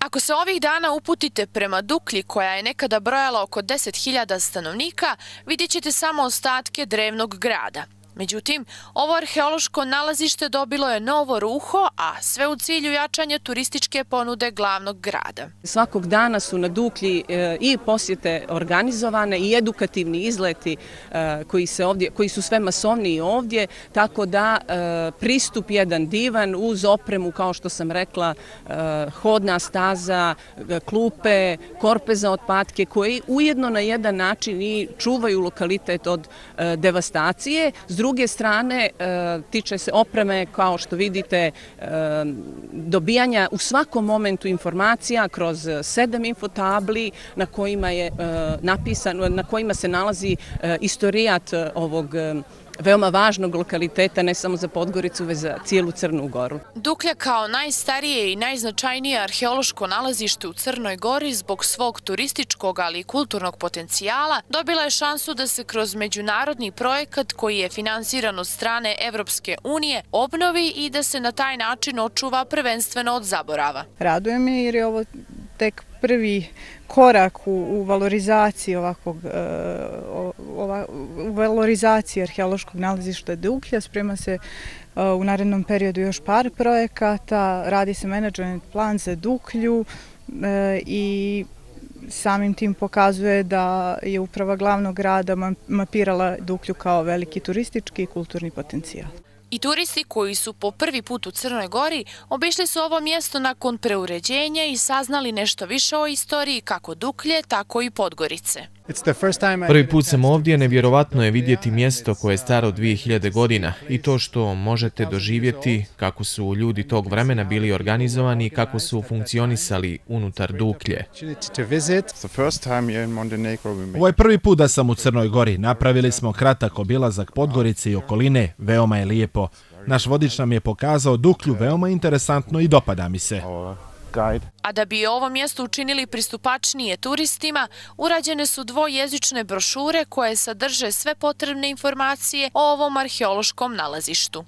Ako se ovih dana uputite prema Duklji, koja je nekada brojala oko 10.000 stanovnika, vidjet ćete samo ostatke drevnog grada. Međutim, ovo arheološko nalazište dobilo je novo ruho, a sve u cilju jačanja turističke ponude glavnog grada. Svakog dana su na Duklji i posjete organizovane i edukativni izleti koji su sve masovniji ovdje, tako da pristup jedan divan uz opremu, kao što sam rekla, hodna staza, klupe, korpe za otpadke, koji ujedno na jedan način i čuvaju lokalitet od devastacije. S druge strane, tiče se opreme, kao što vidite, dobijanja u svakom momentu informacija kroz 7 infotabli na kojima se nalazi istorijat ovog veoma važnog lokaliteta, ne samo za Podgoricu, već za cijelu Crnu Goru. Duklja kao najstarije i najznačajnije arheološko nalazište u Crnoj Gori zbog svog turističkog, ali i kulturnog potencijala dobila je šansu da se kroz međunarodni projekat koji je finansiran od strane Evropske unije obnovi i da se na taj način očuva prvenstveno od zaborava. Raduje me jer je ovo tek prvi korak u valorizaciji u valorizaciji arheološkog nalazišta Duklja. Sprema se u narednom periodu još par projekata, radi se menadžment plan za Duklju i samim tim pokazuje da je uprava glavnog grada mapirala Duklju kao veliki turistički i kulturni potencijal. I turisti koji su po prvi put u Crnoj Gori obišli su ovo mjesto nakon preuređenja i saznali nešto više o istoriji kako Duklje, tako i Podgorice. Prvi put sam ovdje, nevjerovatno je vidjeti mjesto koje je staro 2000 godina i to što možete doživjeti kako su ljudi tog vremena bili organizovani i kako su funkcionisali unutar Duklje. Ovo je prvi put da sam u Crnoj Gori. Napravili smo kratak obilazak Podgorice i okoline, veoma je lijepo. Naš vodič nam je pokazao Duklju veoma interesantno i dopada mi se. A da bi ovo mjesto učinili pristupačnije turistima, urađene su dvojezične brošure koje sadrže sve potrebne informacije o ovom arheološkom nalazištu.